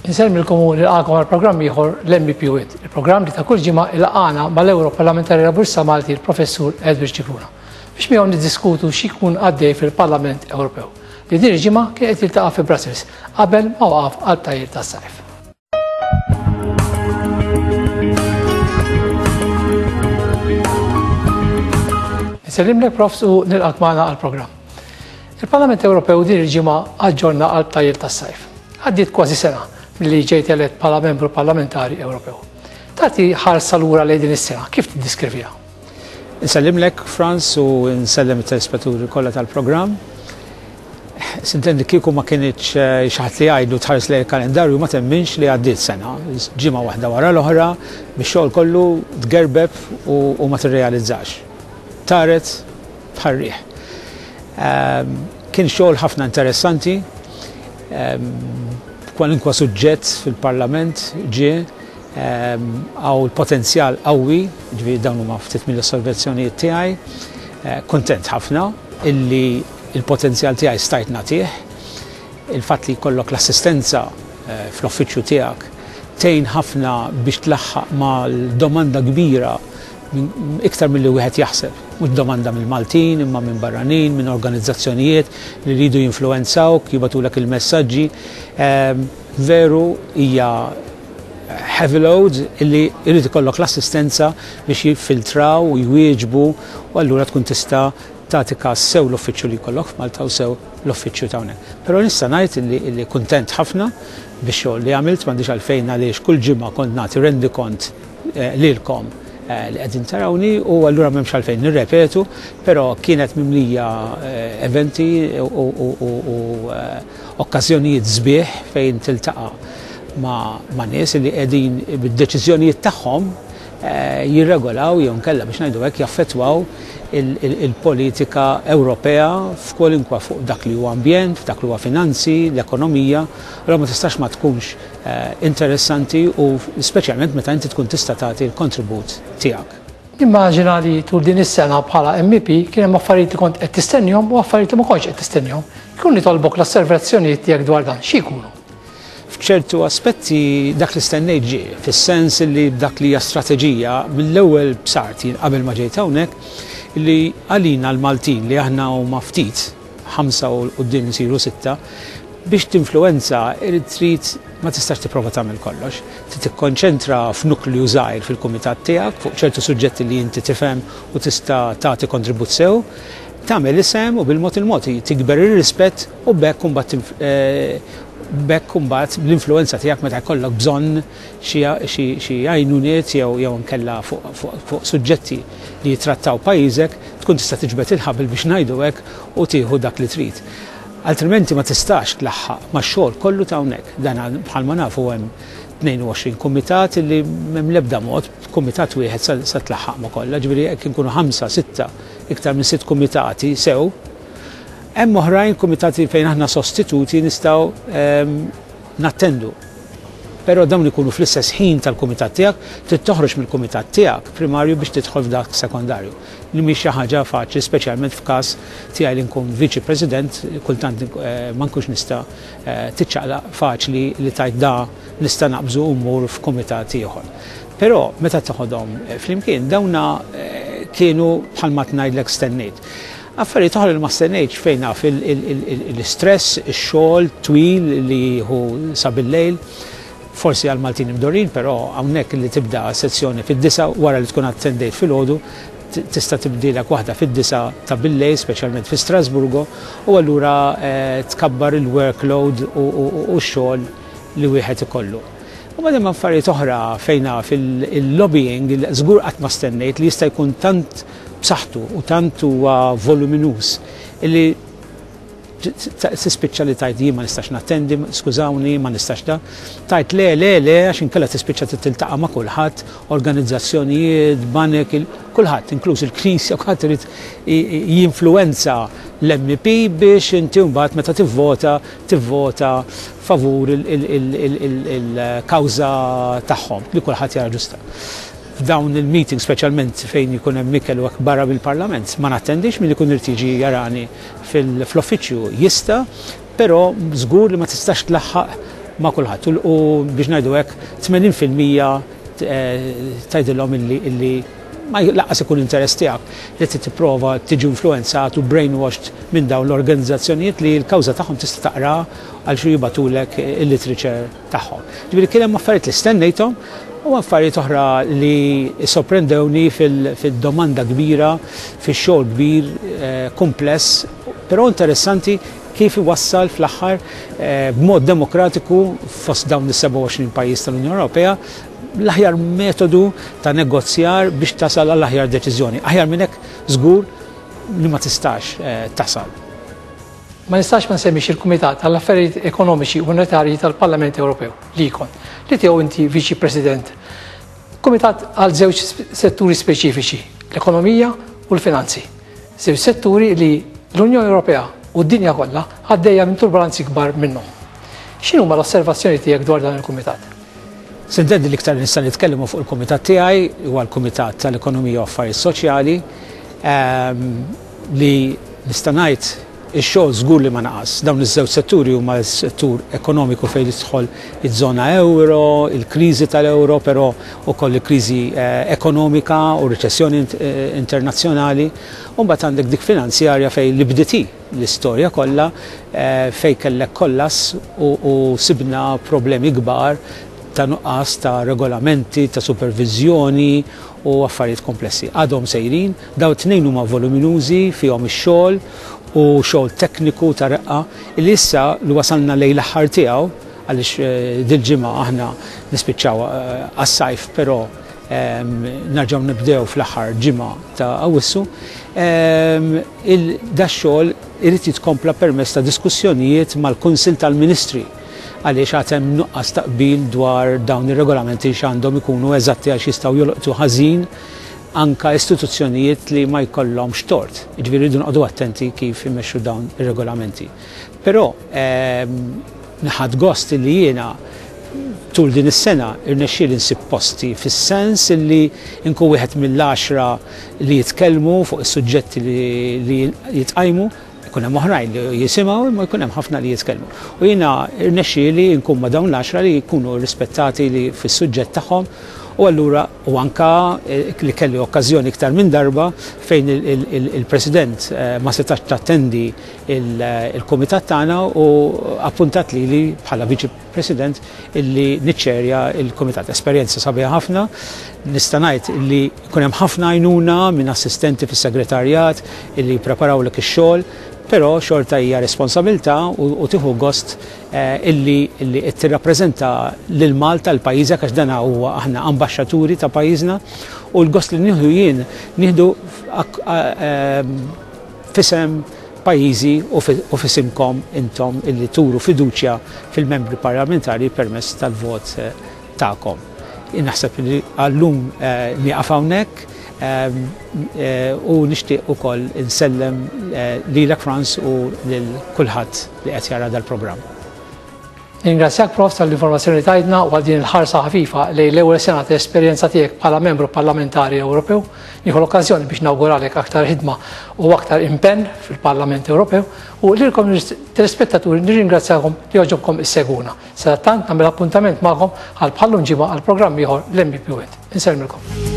Insellmilkom u nilqagħkom għal programm ieħor l-MEP Wit, il-programm li ta' kull ġimgħa ilqagħna mal-Ewroparlamentari Laburista Malti l-Professur Edward Scicluna biex miegħu niddiskutu xi jkun għaddej fil-Parlament Ewropew li din il-ġimgħa kien qed jiltaqa' fi Brussels qabel ma waqaf għal tajjir tas-sajf. Nsellimlek Profs u nilqak magħna għall-programm. Il-Parlament Ewropew din il-ġimgħa aġġorna għal btajjel tas-sajf. Għaddiet kważi sena milli ġejt elett bħala membru parlamentari Ewropew. Tagħti ħarsa lura lejn din is-sena, kif tiddiskriviha? Insellimlek Frans u nsellem it-telespettaturi kollha tal-programm. Sintendi kieku ma kinitx xi ħadd li jgħidlu tħares lejn il-kalendarju ma temminx li għaddiet sena. Ġimgħa waħda wara l-oħra, bix-xogħol kollu tgerbeb u ma tirrealizzax. Taret bħal riħ. Kien xogħol ħafna interessanti, kwalinkwa suġġett fil-Parlament ġie hawn l-potenzjal qawwi, ġifieri dawn huma ftit mill-osservazzjonijiet tiegħi. Kuntent ħafna illi l-potenzjal tiegħi stajt nagħtih. Il-fatt li jkollok l-assistenza fl-uffiċċju tiegħek tgħin ħafna biex tlaħħaq mal-domanda kbira iktar milli wieħed jaħseb. Mhux domanda mill-Maltin imma minn barranin, minn organizzazzjonijiet li jridu jinfluwenzawk, jibagħtulek il-messaġġi. Veru hija heavy load illi jrid ikollok l-assistenza biex jiffiltraw u jwieġbu u allura tkun tista' tagħti każ sew l-uffiċċju li jkollok f'Malta u sew l-uffiċċju ta' hawnhekk. Però nista' ngħid illi, illi kuntent ħafna bix-xogħol li għamilt, m'għandix għalfejn għaliex kull ġimgħa kont nagħti rendikont lilkom li qegħdin tarawni u allura m'hemmx għalfejn nirrepetu, però kienet mimlija eventi u okkażjonijiet sbieħ fejn tiltaqa' ma' nies li qegħdin bid-deċiżjonijiet tagħhom jirregolaw jew inkella biex ngħidu hekk jaffettwaw il-politika Ewropea f'kwalinkwa fuq dak li huwa ambjent, f'dak li huwa finanzi, l-ekonomija, allura ma tistax ma tkunx interessanti u speċjalment meta inti tkun tista' tagħti l-kontribut tiegħek. Nimmaġina li tul din is-sena bħala MEP kien hemm affarijiet li kont qed tistennihom u affarijiet li ma kontx qed tistennihom. Kieku nitolbok l-osservazzjonijiet tiegħek dwar dan, xi jkunu? F'ċertu aspetti dak li stennejt ġie, fis-sens li b'dak li hija strateġija mill-ewwel bsart jien qabel ma ġejt hawnhekk li għalina l-Maltin li aħna huma ftit, ħamsa u 'l quddiem isiru sitta, biex tinfluwenza irid trid ma tistax tipprova tagħmel kollox. Trid tikkonċentra f'nukleu żgħir fil-kumitat tiegħek fuq ċertu suġġetti li inti tifhem u tista' tagħti kontribut sew, tagħmel isem u bil-mod il-mod tikber ir-rispett u b'hekk imbagħad b'hekk imbagħad bl-influwenza tiegħek meta jkollok bżonn xi għajnuniet jew jew inkella fuq suġġetti li jittrattaw pajjiżek tkun tista' tiġbed il-ħabel biex ngħidu hekk u tieħu dak li trid. Altrimenti ma tistax tlaħħaq max-xogħol kollu ta' hawnhekk. Dan bħalma nafu hemm 22 kumitat li m'hemm l-ebda mod b'kumitat wieħed sa tlaħħaq ma' kollha, ġifieri jekk inkunu ħamsa, sitta, iktar minn sitt kumitati sew. Hemm oħrajn kumitati fejn aħna sostituti nistgħu ehm, nattendu. Però dawn ikunu fl-istess ħin tal-kumitat tiegħek, trid toħroġ mill-kumitat tiegħek primarju biex tidħol f'dak sekondarju. Li mhix xi ħaġa faċli, speċjalment f'każ tiegħi li nkun viċi president, kultant eh, ma nkunx nista' eh, tiċċaqlaq faċli li tajt da nista' naqbżu u mmur f'kumitat ieħor. Però meta toħodhom eh, flimkien dawna kienu bħalma tngħidlek stennejt. Affarijiet oħra li ma stennejtx fejn naf l-istress, ix-xogħol twil li jieħu sa bil-lejl, forsi għal Maltin imdorrin, però hawnhekk li tibda sezzjoni fid-disgħa wara li tkun attendejt filgħodu, tista' tibdilek waħda fid-disgħa ta' bil-lejl, speċjalment fi Strasburgo, u allura tkabbar il-workload u x-xogħol li wieħed ikollu. U mbagħad hemm affarijiet oħra fejn naf il-lobbying, żgur qatt ma stennejt li jista' jkun tant b'saħħtu u tant huwa voluminuż illi tispiċċa li tgħid jien ma nistax nattendi, skużawni, ma nistax da. Tgħid le, le, le, għax inkella tispiċċa tiltaqa' ma' kulħadd, organizzazzjonijiet, banek, kulħadd, inkluż il-Knisja, kulħadd irid jinfluwenza l-MEP biex inti mbagħad meta tivvota, tivvota favur il-kawża tagħhom li kulħadd jara ġusta. F'dawn il-meetings, speċjalment fejn jkun hemm ikel u hekk barra mill-Parlament, ma nattendix, min ikun irid jiġi jarani fl-uffiċċju jista', però żgur li ma tistax tlaħħaq ma' kulħadd. U biex ngħidu hekk, 80% tgħidilhom illi ma lanqas ikun interess tiegħek li tipprova tiġi influenzat u brainwashed minn dawn l-organizzazzjonijiet li l-kawża tagħhom tista' taqra għal xi jibagħtulek il-literature tagħhom. Ġifieri kien hemm affarijiet li stennejthom u affarijiet oħra li sorprendewni fil-domanda kbira, fix-xogħol kbir, kumpless, però interessanti kif iwassal fl-aħħar b'mod demokratiku fost dawn is-27 pajjiż tal-Unjoni Ewropea l-aħjar metodu ta' negozjar biex tasal għall-aħjar deċiżjoni. Aħjar minn hekk żgur li ma tistax tasal. Ma nistax ma nsemmix il-Kumitat għall-Affarijiet Ekonomiċi u Monetarji tal-Parlament Ewropew, l-ECON, li tiegħu inti Viċi President. Kumitat għal żewġ setturi speċifiċi, l-ekonomija u l-finanzi. Żewġ setturi li l-Unjoni Ewropea u d-dinja kollha għaddejja minn turbulenzi kbar minnhom. X'inhuma l-osservazzjoni tiegħek dwar dan il-kumitat? S'intendi l-iktar li nista' nitkellmu fuq il-kumitat tiegħi huwa l-Kumitat tal-Ekonomija u Affarijiet Soċjali li nista' ngħid ix-xogħol żgur li ma naqas. Dawn iż-żewġ setturi huma s-settur ekonomiku fejn jidħol iż-żona euro, il-kriżi tal-euro, però ukoll il-kriżi ekonomika u riċessjoni internazzjonali, u mbagħad għandek dik finanzjarja fejn li bdiet l-istorja kollha fejn kellek kollass u sibna problemi kbar ta' nuqqas ta' regolamenti, ta' superviżjoni u affarijiet komplessi. Għadhom sejrin, dawn it-tnejn huma voluminużi, fihom ix-xogħol u xogħol tekniku ta' reqqa li issa li wasalna lejn l-aħħar tiegħu għaliex dil-ġimgħa aħna nispiċċaw għas-sajf, però narġgħu nibdew fl-aħħar ġimgħa ta' Awwissu. Da xogħol irid jitkompla permezz ta' diskussjonijiet mal-Kunsill tal-Ministri għaliex għad hemm nuqqas ta' qbil dwar dawn ir-regolamenti x'għandhom ikunu eżatti għax jistgħu jolqtu ħażin anka istituzzjonijiet li ma jkollhomx tort. Jiġifieri rridu noqogħdu attenti kif imexxu dawn ir-regolamenti. Però ħadt gost li jiena tul din is-sena irnexxieli nsib posti fis-sens li nkun wieħed mill-10 li jitkellmu fuq is-suġġetti li jitqajmu. Ikun hemm oħrajn li jisimgħu imma jkun hemm ħafna li jitkellmu. U jiena rnexxieli nkun ma' dawn l-10 li jkunu rispettati li fis-suġġett tagħhom u allura u anka li kelli okkażjoni iktar minn darba fejn il-President ma setax tattendi il-kumitat tagħna u appuntat lili bħala Viċi President illi niċċerja il-kumitat. Esperjenza sabiħa ħafna, nista' ngħid illi jkun hemm ħafna għajnuna minn assistenti fis-segretarjat illi jippreparawlek ix-xogħol, però xorta hija responsabilità u tieħu gost illi qed tirrappreżenta lil Malta, l pajjiżek għax dan huwa aħna ambaxxaturi ta' pajjiżna u l-gost li nieħdu jien nieħdu f'isem pajjiżi u f'isimkom intom illi turu fiduċja fil-membri parlamentari permezz tal-vot tagħkom. Naħseb li għallum nieqaf hawnhekk u nixtieq ukoll insellem lilek Frans u lil kulħadd li qed jara dal-programm. Ningrazzjak Prof tal-informazzjoni li tajtna u għal din il-ħarsa ħafifa lejn l-ewwel sena ta' esperjenza tiegħek bħala membru parlamentari Ewropew. Nieħu l-okkażjoni biex nawguralek aktar ħidma u aktar impenn fil-Parlament Ewropew u lilkom telespettaturi nirringrazzjakom li għoġobkom issegwuna. Sadattant nagħmel appuntament magħkom għal bħallum ġimgħa għal programm ieħor l-MEP Went. Insellmilkom.